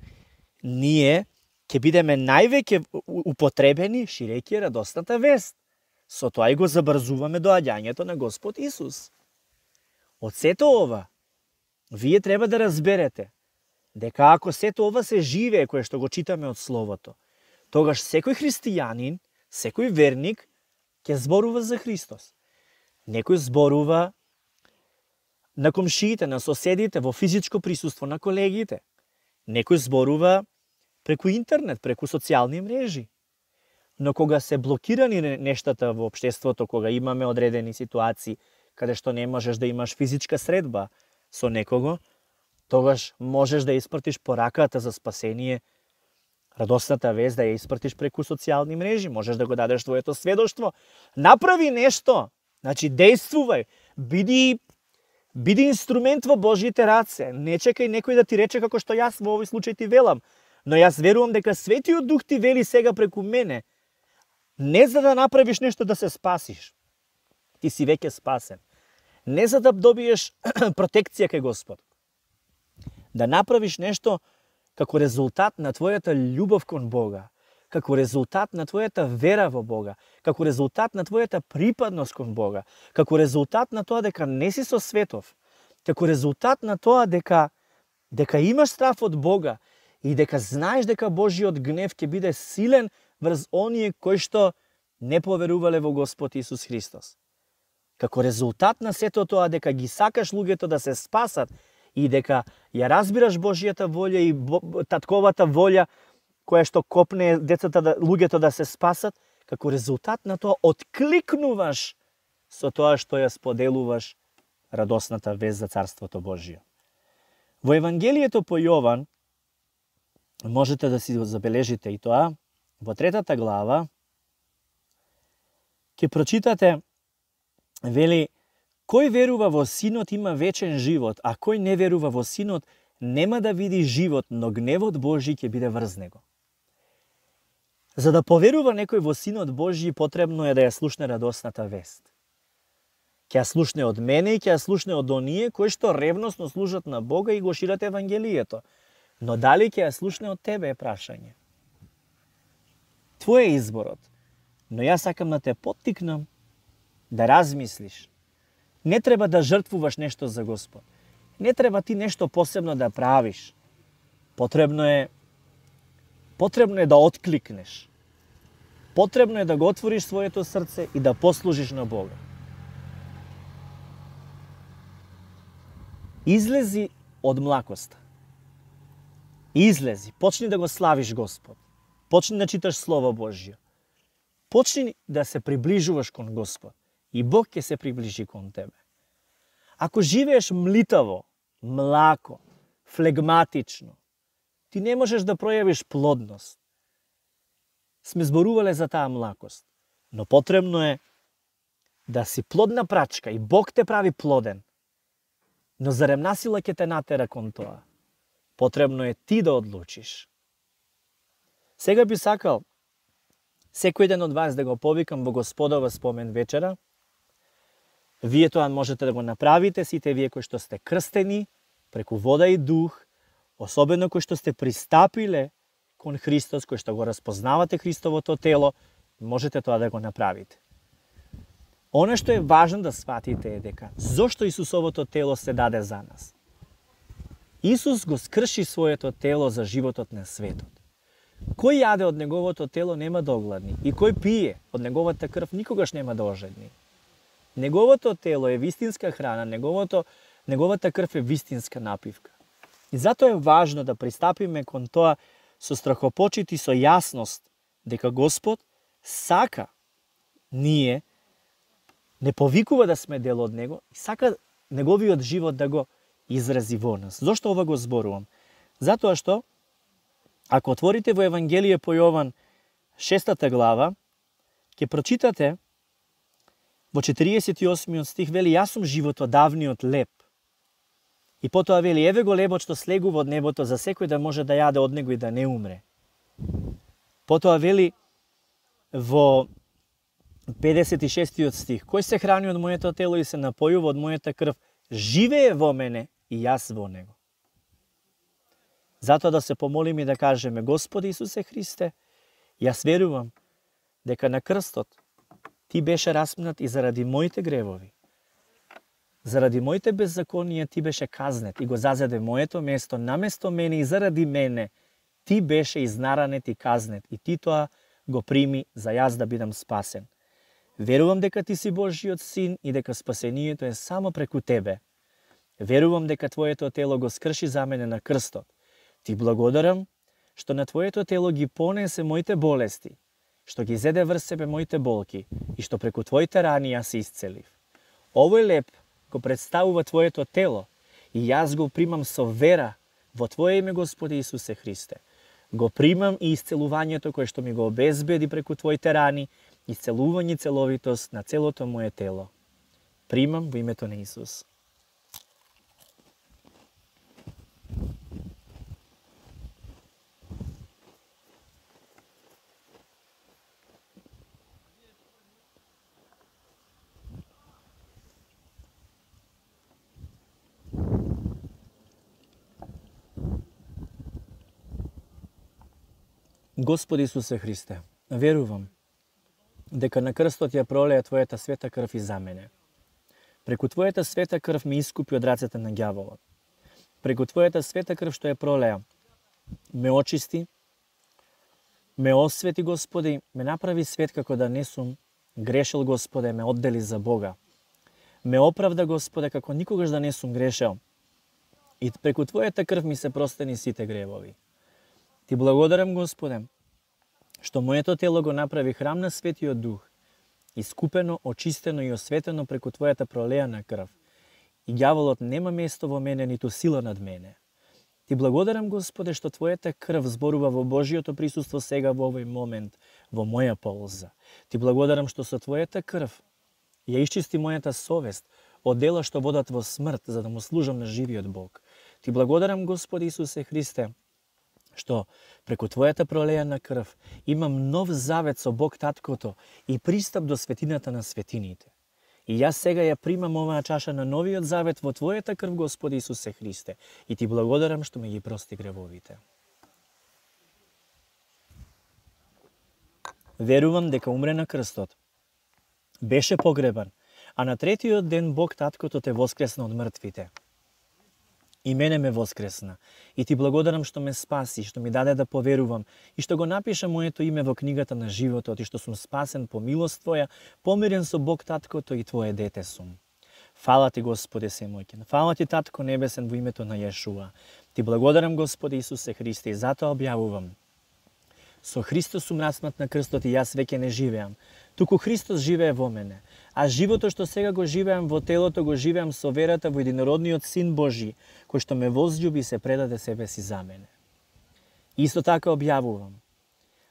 Speaker 1: ние ќе бидеме највеќе употребени ширејќи радосната вест. Со тоа и го забрзуваме доаѓањето на Господ Исус. Од сето ова, вие треба да разберете дека ако сето ова се живее кое што го читаме од Словото, тогаш секој христијанин, секој верник ќе зборува за Христос. Некој зборува на комшиите, на соседите, во физичко присуство на колегите. Некој зборува преку интернет, преку социјални мрежи. Но кога се блокирани нештата во општеството, кога имаме одредени ситуации каде што не можеш да имаш физичка средба со некого, тогаш можеш да испратиш пораката за спасение, радосната вест да ја испратиш преку социјални мрежи, можеш да го дадеш твоето сведоштво. Направи нешто, значи дејствувај, биди инструмент во Божјите раце. Не чекај некој да ти рече како што јас во овој случај ти велам, но јас верувам дека Светиот Дух ти вели сега преку мене, не за да направиш нешто да се спасиш. Ти си веќе спасен. Не за да добиеш протекција кај Господ. Да направиш нешто како резултат на твојата љубов кон Бога, како резултат на твојата вера во Бога, како резултат на твојата припадност кон Бога, како резултат на тоа дека не си со светов, како резултат на тоа дека имаш страв од Бога и дека знаеш дека Божиот гнев ќе биде силен врз оние кои што не поверувале во Господ Исус Христос. Како резултат на сето тоа дека ги сакаш луѓето да се спасат и дека ја разбираш Божјата волја и татковата волја која што копне децата, луѓето да се спасат, како резултат на тоа откликнуваш со тоа што ја споделуваш радосната вест за Царството Божие. Во Евангелието по Јован, можете да си забележите и тоа, во 3 глава, ќе прочитате, вели, кој верува во Синот има вечен живот, а кој не верува во Синот нема да види живот, но гневот Божи ќе биде врз него. За да поверува некој во Синот Божи, потребно е да ја слушне радосната вест. Ќе ја слушне од мене и ќе ја слушне од оние кои што ревносно служат на Бога и го шират Евангелието. Но дали ќе ја слушне од тебе е прашање. Твој е изборот. Но јас сакам да те поттикнам да размислиш. Не треба да жртвуваш нешто за Господ. Не треба ти нешто посебно да правиш. Потребно е да откликнеш. Потребно е да го отвориш своето срце и да послужиш на Бога. Излези од млакоста. Излези, почни да го славиш Господ. Почни да читаш Слово Божје. Почни да се приближуваш кон Господ и Бог ќе се приближи кон тебе. Ако живееш млитаво, млако, флегматично, ти не можеш да пројавиш плодност. Сме зборувале за таа млакост, но потребно е да си плодна прачка и Бог те прави плоден. Но зарем насила ќе те натера кон тоа? Потребно е ти да одлучиш. Сега би сакал секој ден од вас да го повикам во Господова спомен вечера. Вие тоа можете да го направите, сите вие кои што сте крстени преку вода и дух, особено кои што сте пристапиле кон Христос, кои што го распознавате Христовото тело, можете тоа да го направите. Оно што е важно да сватите е дека зошто Исусовото тело се даде за нас. Исус го скрши своето тело за животот на светот. Кој јаде од неговото тело нема да огладни и кој пие од неговата крв никогаш нема да ожедни. Неговото тело е вистинска храна, неговата крв е вистинска напивка. И затоа е важно да пристапиме кон тоа со страхопочит и со јасност дека Господ сака ние не повикува да сме дел од Него и сака неговиот живот да го изрази во нас. Зошто ова го зборувам? Затоа што, ако отворите во Евангелие по Јован 6 глава, ќе прочитате во 48 стих, вели, јас сум животодавниот леб. И потоа вели, еве го лебот што слегува од небото за секој да може да јаде од него и да не умре. Потоа вели во 56 стих, кој се храни од моето тело и се напојува од мојата крв, живее во мене и јас во него. Затоа да се помолиме и да кажеме, Господи Исусе Христе, јас верувам дека на крстот Ти беше распнат и заради моите гревови. Заради моите беззаконија Ти беше казнет и го зазеде моето место наместо мене и заради мене Ти беше изнаранет и казнет и Ти тоа го прими за јас да бидам спасен. Верувам дека Ти си Божиот син и дека спасението е само преку Тебе. Верувам дека Твоето тело го скрши за мене на крстот. Ти благодарам што на Твоето тело ги понесе моите болести, што ги зеде врз себе моите болки и што преку Твоите рани јас се исцелив. Овој леб го представува Твоето тело и јас го примам со вера во Твое име, Господи Исусе Христе. Го примам и исцелувањето кое што ми го обезбеди преку Твоите рани, исцелување целовитост на целото моje тело. Примам во името на Исус. Господи Исусе Христе, верувам дека на крстот ја пролеа Твојата света крв и за мене. Преку Твојата света крв ме искупи од рацете на ѓаволот. Преку Твојата света крв што ја пролеа, ме очисти, ме освети, Господи, ме направи свет како да не сум грешил, Господе, ме оддели за Бога. Ме оправда, Господе, како никогаш да не сум грешел. и преку Твојата крв ми се простени сите гревови. Ти благодарам, Господе, што моето тело го направи храм на Светиот Дух, искупено, очистено и осветено преку Твојата пролеана крв. И ѓаволот нема место во мене, ниту сила над мене. Ти благодарам, Господе, што Твојата крв зборува во Божиото присуство сега во овој момент, во моја полза. Ти благодарам што со Твојата крв ја исчисти мојата совест од дела што водат во смрт, за да му служам на живиот Бог. Ти благодарам, Господи Исусе Христе, што преку Твојата пролејана крв имам нов завет со Бог Таткото и пристап до светината на светините. И јас сега ја примам оваа чаша на новиот завет во Твојата крв, Господи Исусе Христе, и Ти благодарам што ме ги прости гревовите. Верувам дека умре на крстот, беше погребан, а на третиот ден Бог Таткото те воскресна од мртвите. И мене ме воскресна. И Ти благодарам што ме спаси, што ми даде да поверувам и што го напиша моето име во книгата на животот и што сум спасен по милост Твоја, помирен со Бог Таткото и Твое дете сум. Фала Ти, Господи Семојкен. Фала Ти, Татко Небесен, во името на Јешуа. Ти благодарам, Господи Исусе Христе, и затоа објавувам. Со Христос сум распнат на крстот и јас веќе не живеам, туку Христос живее во мене. А животот што сега го живеам во телото, го живеам со верата во единородниот Син Божи, кој што ме возлюби и се предаде себе си за мене. Исто така објавувам.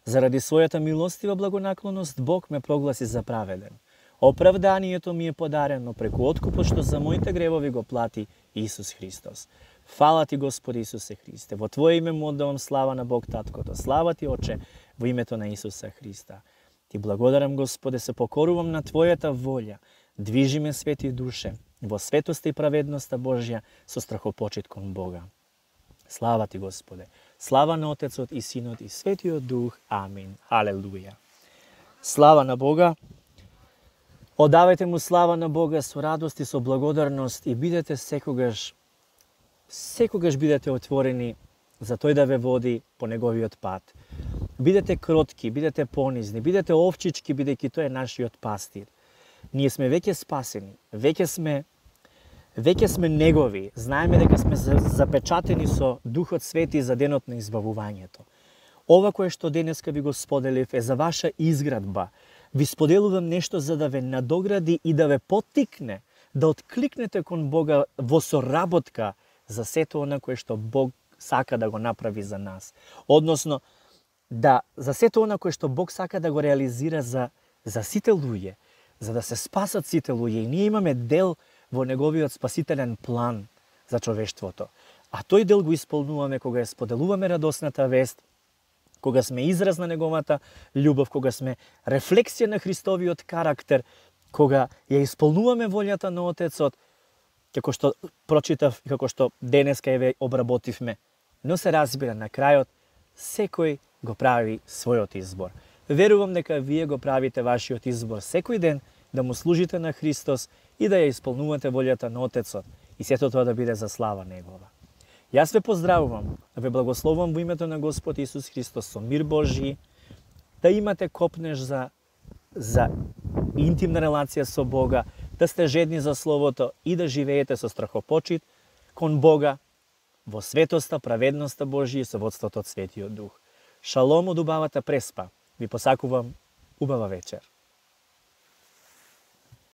Speaker 1: Заради својата милостива благонаклоност, Бог ме прогласи за праведен. Оправданието ми е подарено преку откупот што за моите гревови го плати Исус Христос. Фала Ти, Господи Исусе Христе. Во Твое име му оддавам слава на Бог Таткото. Слава Ти, Оче, во името на Исуса Христа. Ти благодарам, Господе, се покорувам на Твојата волја. Движи ме, свети душе, во светоста и праведноста Божја со страхопочит кон Бога. Слава Ти, Господе. Слава на Отецот и Синот и Светиот Дух. Амин. Халелуја. Слава на Бога. Одавајте му слава на Бога со радост и со благодарност и бидете секогаш бидете отворени за Тој да ве води по неговиот пат. Бидете кротки, бидете понизни, бидете овчички, бидејќи тој е нашиот пастир. Ние сме веќе спасени, веќе сме негови. Знаеме дека сме запечатени со Духот Свети за денот на избавувањето. Ова кое што денеска ви го споделив е за ваша изградба. Ви споделувам нешто за да ве надогради и да ве поттикне да откликнете кон Бога во соработка за сето она кое што Бог сака да го направи за нас. Односно, за сето она кое што Бог сака да го реализира за сите луѓе, за да се спасат сите луѓе. И ние имаме дел во неговиот спасителен план за човештвото. А тој дел го исполнуваме кога ја споделуваме радосната вест, кога сме израз на неговата љубов, кога сме рефлексија на Христовиот карактер, кога ја исполнуваме волјата на Отецот, како што прочитав и како што денеска ја обработивме. Но се разбира, на крајот, секој го прави својот избор. Верувам дека вие го правите вашиот избор секој ден да му служите на Христос и да ја исполнувате волјата на Отецот и сето тоа да биде за слава Негова. Јас ве поздравувам, да ве благословувам во името на Господ Исус Христос со мир Божи, да имате копнеж за интимна релација со Бога, да сте жедни за Словото и да живеете со страхопочит кон Бога, во светоста, праведноста Божија и со водството од Светиот Дух. Шалом од убавата преспа. Ви посакувам убава вечер.